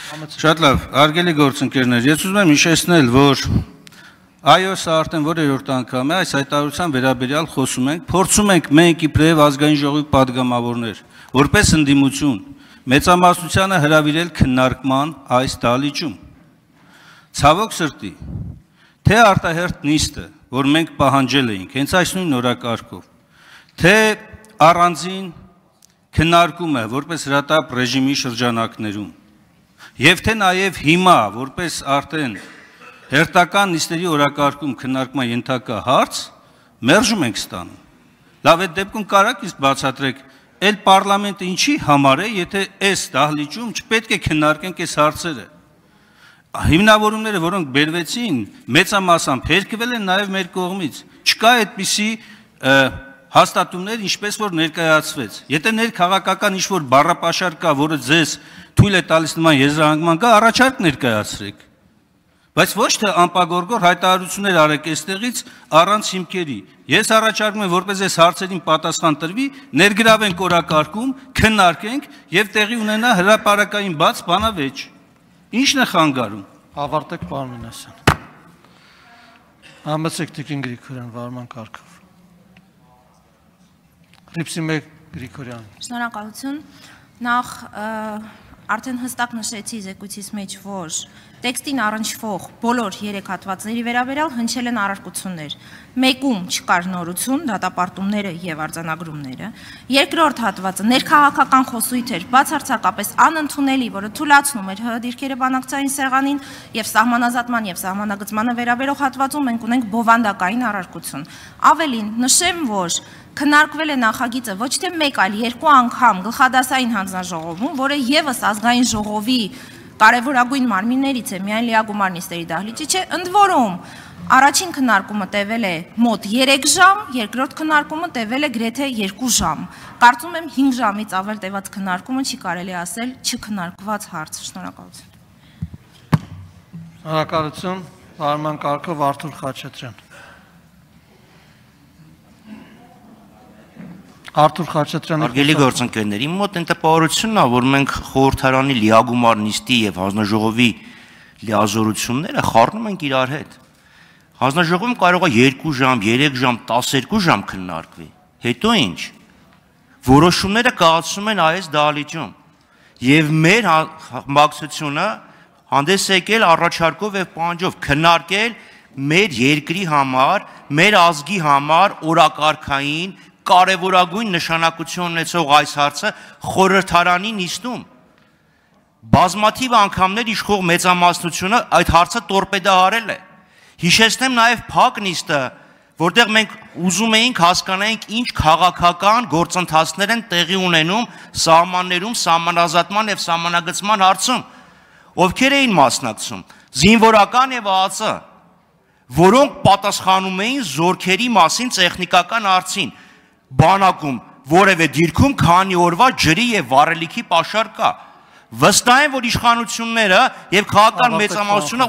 Շատ լավ, հարգելի գործընկերներ, ես ուզում եմ հիշեցնել, որ այո, սա արդեն որերորդ անգամ է, այս հայտարարության վերաբերյալ խոսում ենք, փորձում ենք մենք իբրև ազգային ժողովի պատգամավորներ, որպես ընդդիմություն, մեծամասնությանը հրավիրել քննարկման այս դահլիճում։ Ցավոք սրտի, թե արտահերթ նիստը, որ մենք պահանջել էինք, հենց այս նույն օրակարգով, թե առանձին քննարկումը, որպես հրատապ ռեժիմի շրջանակներում, եւ թե նաեւ հիմա, որպես արդեն հերթական նիստերի օրակարգում քննարկման ենթակա հարց, մերժում ենք ստանում։ Լավ, այդ դեպքում կարաք իսկ բացատրեք, այլ պարլամենտը ինչի համար է, եթե այս դահլիճում չպետք է քննարկենք այս հարցերը։ Հիմնավորումները, որոնք բերվեցին, մեծամասամբ հերկվել են նաեւ մեր կողմից։ Չկա այդպիսի հաստատումներ, ինչպես որ ներկայացվեց։ Եթե ներքաղաքական ինչ-որ բառապաշար կա, որը ձեզ թույլ է տալիս նման եզրահանգման կա, առաջարկ ներկայացրեք։ Բայց ոչ թե անպագորգոր հայտարարություններ արեք այստեղից առանց հիմքերի։ Ես առաջարկում եմ, որպես այս հարցերին պատասխան տրվի, ներգրավենք օրակարգում, քննարկենք եւ տեղի ունենա հրապարակային բաց բանավեճ։ Ինչն է խանգարում։ Ավարտեք, պարոն Մինասյան։ Համեցեք Տիկին Գրիգորյան վարման կարգով։ Ռիփսիմե Գրիգորյան։ Շնորհակալություն։ Նախ արդեն հստակ նշեցի զեկույցից մեջ, որ տեքստին առնչվող բոլոր 3 հատվածների վերաբերյալ հնչել են առարկություններ։ Մեկում չկար նորություն, դատապարտումները եւ արձանագրումները։ Երկրորդ հատվածը ներքաղաքական խոսույթ էր, բացարձակապես անընդունելի, որը թույլատնում էր ՀՀ դիրքերը բանակցային սեղանին եւ սահմանազատման եւ սահմանագծմանը վերաբերող հատվածում մենք ունենք բովանդակային առարկություն։ Ավելին, նշեմ, որ քննարկվել է նախագիծը ոչ թե 1, այլ 2 անգամ գլխադասային հանձնաժողովում, որը եւս ազգային ժողովի կարևորագույն մարմիններից է, միայն լիագումար նիստերի դահլիճի չէ, ընդ որում առաջին քննարկումը տևել է մոտ 3 ժամ, երկրորդ քննարկումը տևել է գրեթե 2 ժամ։ Կարծում եմ 5 ժամից ավել տևած քննարկումը չի կարելի ասել չքննարկված հարց։ Շնորհակալություն։ Շնորհակալություն, վարման կարգով Արթուր Խաչատրյան։ Արթուր Խաչատրյանը։ Հարգելի գործընկերներ, իմ մոտ այն տպավորությունն է, որ մենք խորհրդարանի լիագումար նիստի եւ հանձնաժողովի լիազորությունները խառնում ենք իրար հետ։ Հանձնաժողովում կարող է 2 ժամ, 3 ժամ, 12 ժամ քննարկվի։ Հետո ինչ։ Որոշումները կայացվում են այս դահլիճում։ Եվ մեր մակցությունը հանդես եկել առաջարկով եւ պահանջով քննարկել մեր երկրի համար, մեր ազգի համար օրակարգային կարևորագույն նշանակություն ունեցող այս հարցը խորհրդարանի նիստում բազմաթիվ անգամներ իշխող մեծամասնությունը այդ հարցը տորպեդահարել է։ Հիշեցնեմ նաև փակ նիստը, որտեղ մենք ուզում էինք հասկանայինք ինչ քաղաքական գործընթացներ են տեղի ունենում սահմաններում, սահմանազատման եւ սահմանագծման հարցում, ովքեր էին մասնակցում, զինվորական եւ ԱԱԾ, որոնք պատասխանում էին զորքերի մասին տեխնիկական հարցին։ Բանակում որևէ դիրքում քանի օրվա ջրի եւ վառելիքի պաշար կա։ Վստահ եմ, որ իշխանությունները եւ քաղաքական մեծամասնությունը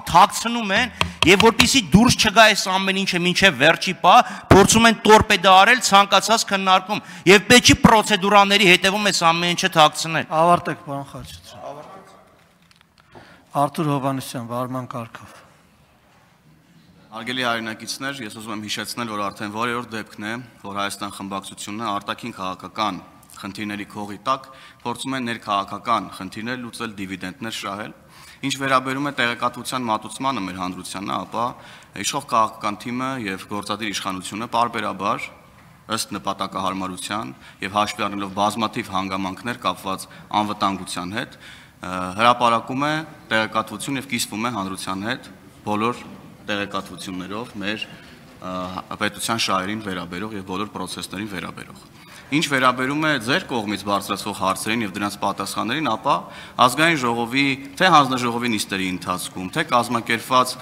թաքցնում են եւ որպեսզի դուրս չգա այս ամեն ինչը մինչեւ վերջի պահ, փորձում են տորպեդարել ցանկացած քննարկում եւ պետք չի պրոցեդուրաների հետեւում այս ամեն ինչը թաքցնել։ Ավարտեք, պարոն Խաչատրյան։ Արթուր Հովհաննիսյան, վարման կարգով։ Հարգելի հայրենակիցներ, ես ուզում եմ հիշեցնել, որ արդեն որերորդ դեպքն է, որ Հայաստան խմբակցությունը արտաքին քաղաքական խնդիրների քողի տակ փորձում է ներքաղաքական խնդիրներ լուծել, դիվիդենտներ շահել։ Ինչ վերաբերում է տեղեկատվության մատուցմանը մեր հանրությանը, ապա իշխող քաղաքական թիմը եւ գործադիր իշխանությունը պարբերաբար ըստ նպատակահարմարության եւ հաշվի առնելով բազմաթիվ հանգամանքներ կապված անվտանգության հետ, հրապարակում է տեղեկատվություն եւ կիսվում է հանրության հետ բոլոր տեղեկատվություններով մեր պետության շահերին վերաբերող եւ բոլոր process-ներին վերաբերող։ Ինչ վերաբերում է ձեր կողմից բարձրացվող հարցերին եւ դրանց պատասխաններին, ապա ազգային ժողովի թե հանձնաժողովի նիստերի ընթացքում, թե կազմակերպված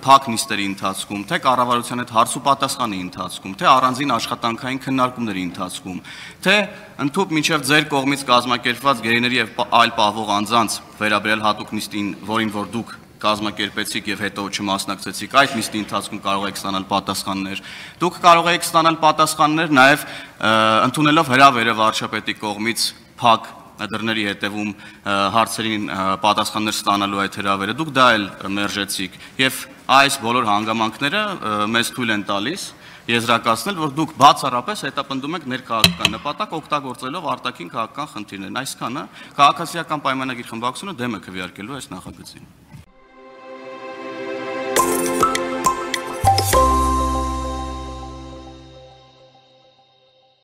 փակ նիստերի ընթացքում, թե կառավարության հետ հարց ու պատասխանի ընթացքում, թե առանձին աշխատանքային քննարկումների ընթացքում, թե ընդհանուր մինչեւ ձեր կողմից կազմակերպված գերիների եւ այլ պահվող անձանց վերաբերյալ հատուկ նիստին, որին որ դուք կազմակերպեցիք եւ հետո չմասնակցեցիք այդ նիստի ընթացքում կարող եք ստանալ պատասխաններ։ Դուք կարող եք ստանալ պատասխաններ նաեւ ընդունելով հրավերը վարչապետի կողմից փակ դռների հետևում հարցերին պատասխաններ ստանալու այդ հրավերը, դուք դա էլ մերժեցիք եւ այս բոլոր հանգամանքները մեզ թույլ են տալիս եզրակացնել, որ դուք բացառապես հետապնդում եք ներքաղաքական նպատակ օգտագործելով արտաքին քաղաքական խնդիրներն, այսքանը քաղաքացիական պայմանագիր խմբակցությունը դեմ է քվեարկելու այս նախագծին։